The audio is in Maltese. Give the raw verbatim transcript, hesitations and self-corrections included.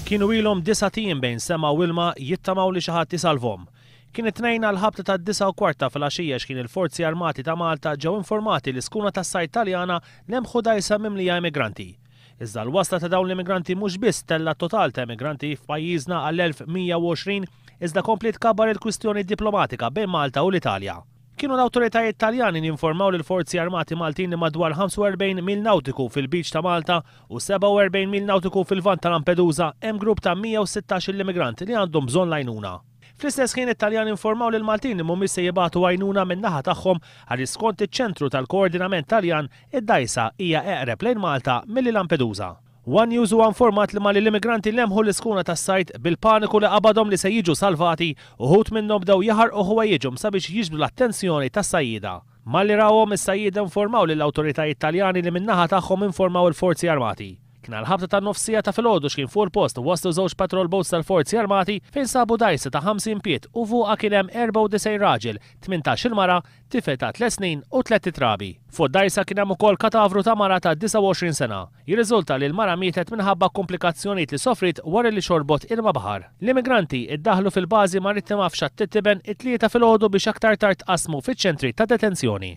Kienu ilhom disat ijiem bejn sema u ilma jittamaw li xi ħadd isalvhom. Kien it-Tnejn għall-ħabta tad-disgħa u kwart ta' filgħaxija x'kien il-Forzi Armati ta' Malta ġew informati li skuna tas-sajd Taljana lemħu dgħajsa mimlija immigranti. Iżda l-wasla ta' dawn l-immigranti mhux biss tella' t-total ta' immigranti f'pajjiżna għal elf mija u għoxrin iżda kompliet tkabbar il-kwistjoni diplomatika bejn Malta u l-Italja. Kienu l-awtoritajiet Taljani li informaw lill-Forzi Armati Maltin li madwar ħamsa u erbgħin mil nautiku fil-beach ta' Malta u sebgħa u erbgħin mil nautiku fil-Lvant ta' Lampedusa hemm grupp ta' mija u sittax-il immigrant li għandhom bżonn l-għajnuna. Fl-istess ħin it-Taljani informaw lill-Maltin li mhumiex se jibagħtu għajnuna min-naħa tagħhom għaliex skont iċ-ċentru tal-koordinament Taljan id-dgħajsa hija eqreb lejn Malta milli Lampedusa. One News huwa informat li malli l-immigranti lemħu l-iskuna tas-sajd bil-paniku li qabadhom li se jiġu salvati, uħud minnhom bdew jaħarqu ħwejjiġhom sabiex jiġbdu l-attenzjoni tas-sajjieda. Malli rawhom is-sajjieda informaw lill-awtoritajiet Taljani li min-naħa tagħhom informaw il-Forzi Armati. Kien għall-ħabta tan-nofsija ta' filgħodu x'kien fuq il-post waslu żewġ patrol boats tal-Forzi Armati fejn sabu dgħajsa ta' ħamsin pied u fuqha kien hemm erbgħa u disgħin raġel, tmintax-il mara, tifel ta' tliet snin u tliet trabi. Fuq dgħajsa kien hemm ukoll katavru ta' mara ta' disgħa u għoxrin sena. Jirriżulta li l-mara mietet minħabba komplikazzjonijiet li sofrit wara li xorbot ilma baħar. L-immigranti iddaħlu fil-bażi marittima f'Xatt it-Tiben it-Tlieta filgħodu biex aktar tard tqassmu fiċ-ċentri ta' detenzjoni.